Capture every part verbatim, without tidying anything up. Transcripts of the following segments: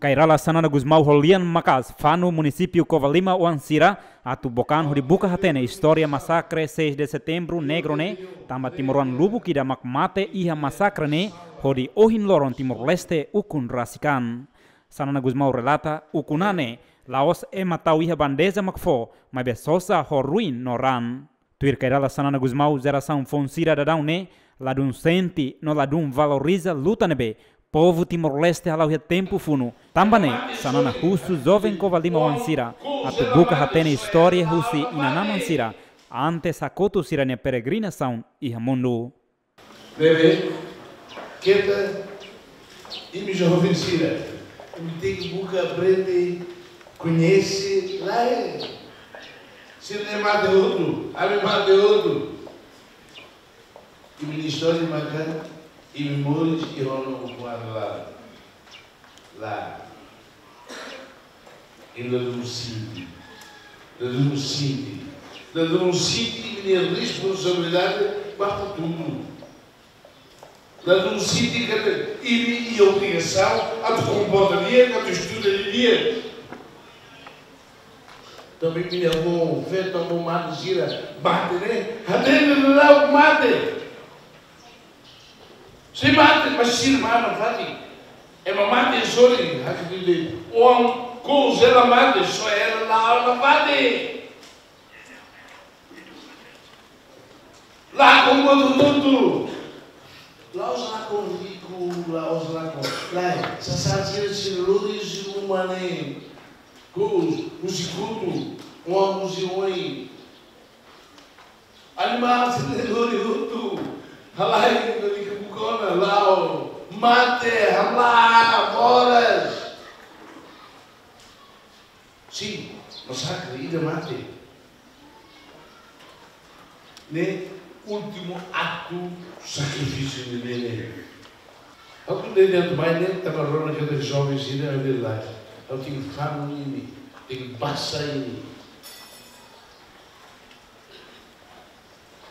Kay Rala Xanana Gusmão ho lian maka'as fanu munisípiu Covalima oan sira atu book an hodi buka hatene istória masakre seis de Setembru Negro ne'e, tanba timoroan lubuk ida mak mate iha masakre ne'e, hodi ohin loron Timor-Leste ukun rasik an. Xanana Gusmão relata, ukun an ne'e la'ós ema tau iha bandeja mak fó, maibé sosa ho ruin no raan. Tuir Kay Rala Xanana Gusmão, jerasaun foun sira daudaun ne'e ladún sente no ladún valoriza luta ne'ebé povu Timor-Leste hala'o iha tempu funu. Tanba ne'e, Xanana husu joven Covalima oan sira atu buka hatene istória husi inan-aman sira, antes hakotu sira-nia peregrinasaun iha mundu. Ne'ebé, keta, imi joven sira, imi tenke buka aprende, koñese, lae. Sira-ne'e mate hotu, ami mate hotu. Imi-nia istória maka, imi moris iha ona ukun an laran. Lae. Imi ladún sente. Ladún sente. Ladún sente imi-nia responsabilidade ba futuru. Ladún sente katak imi iha obrigasaun atu komporta di'ak, atu estuda di'ak. Tanba imi-nia avó, feto, avó mate sira, mate ne'e, hatene daudaun mate. Sei mate, mas sira mate nafatin. Ema mate sorin, haktuir de'it. Oan kous hela mate, só hela la'o nafatin. Lakon buat hotu-hotu. La'ós lakon riku, la'ós lakon. Lae, sasán sira, sira lori husi uma ne'e. Kous, husi kotu, oan husi oin. Animál sira lori hotu. Halai, lori ke buka ona, la'o. Mate, hamlaha, moras. Sin, masakre ida mate. Ne'e últimu aktu sakrifísiu ne'e, ne'e. Ha'u ko'alia de'it mai ne'e, tanba rona katak joven sira, ha'u dehan lae. Ha'u tenke fanu imi, tenke basa imi.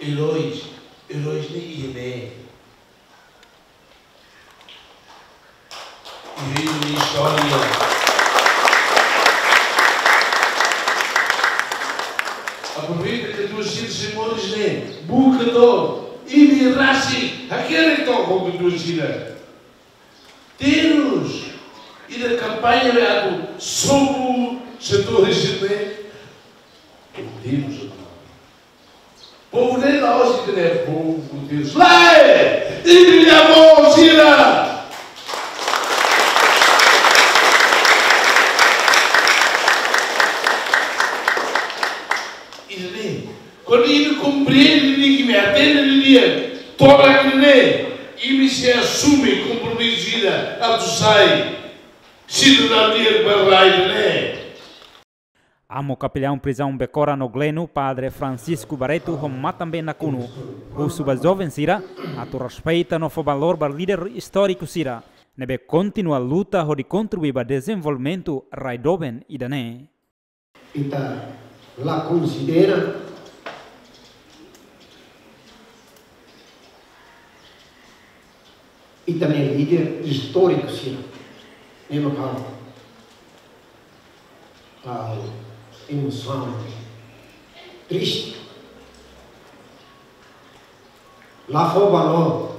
Eróis, eróis ne'e iha ne'e. Iha imi-nia istória. Aproveita katuas sira sei moris ne'e, buka dor, imi rasik, hakerek took ho katuas sira. Terus, ida kampaña ne'e atu sobu setór sira-ne'e. Terus, povu ne'e la'ós ita-nia povu, Deus. Lae! Imi-nia avó sira! Ida-ne'e, kuandu imi komprende di'ak, imi hatene di'ak, tomak ne'e, imi sei asume kompromisu ida atu sai sidadaun di'ak ba rai ne'e. Amu Kapelliaun Prizaun Becora no Gleno, Padre Francisco Barreto ho matan-been nakonu, husu ba joven sira atu respeita no fó valór ba líder istóriku sira ne'ebé kontinua luta hodi kontribui ba dezenvolvimentu rai doben ida-ne'e. Ita la konsidera ita-nia líder istóriku sira. Ne'e mak ha'u, ha'u emosaun, triste. La fó valór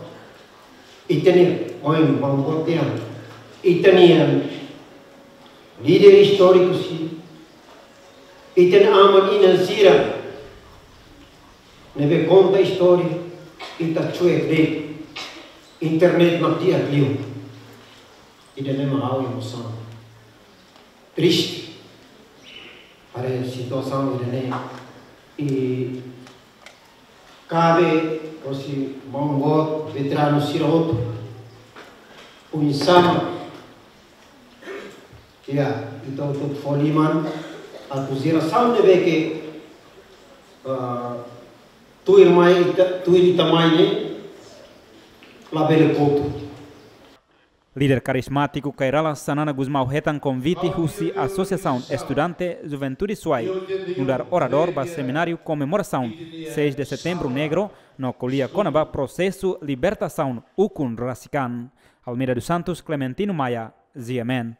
ita-nia oin, maun-boot nian, ita-nia líder istóriku sira, ita-nia aman-inan sira ne'ebé konta istória, ita cuek de'it. Internet mak di'ak liu. Ida-ne'e mak ha'u emosaun. Triste. Haree situasaun ida-ne'e. I kabe hosi maun-boot veteranu sira hotu. Oinsá mak, ya, ita hotu fó liman atu jerasaun ne'ebé ke, ah, tuir mai ita, tuir ita mai ne'e, labele kotu. Líder karizmátiku Kay Rala Xanana Gusmão hetan konvite husi Asosiasaun Estudante Juventude Suai, nu'udar oradór ba semináriu komemorasaun seis de Setembro Negro, no ko'alia kona-ba prosesu libertasaun ukun rasik an. Almeida dos Santos, Clementino Maia, G M N.